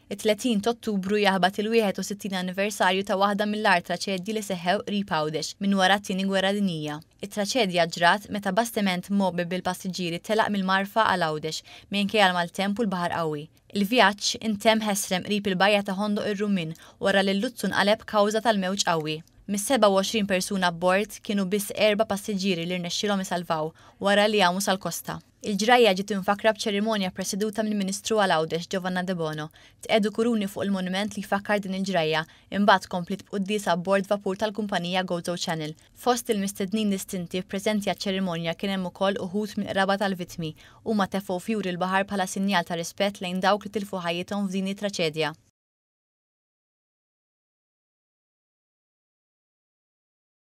It-30 t'Ottubru jaħbat il-61 anniversarju ta' waħda mill-agħar traċedji li seħħew qrib Għawdex minn wara t-Tieni Gwerra Dinjija. It-traċedja ġrat meta bastiment mgħobbi bil-passiġġieri telaq mill-Marfa għal Għawdex minkejja l-maltemp u l-baħar qawwi. Il-vjaġġ intemm ħesrem qrib il-bajja ta' Ħondoq ir-Rummien wara li l-luzzu nqaleb kawża tal-mewġ qawwi. Mis-27 persuna abbord kienu biss erba' passiġġieri li rnexxielhom isalvaw wara li għamu sal-kosta. Il-ġrajja ġiet imfakkra b'ċerimonja ppreseduta mill-Ministru għal Għawdex Giovanna Debono. Tqiegħdu kuruni fuq il-monument li jfakkar din il-ġrajja, imbagħad kompliet b'quddiesa abbord vapur tal-kumpanija Gozo Channel. Fost il-mistednin distinti preżenti għaċ-ċerimonja kien hemm ukoll uħud mill-qraba tal-vittmi. Huma tefgħu fjuri l-baħar bħala sinjal ta' rispett lejn dawk li tilfu ħajjithom f'din it-traċedja.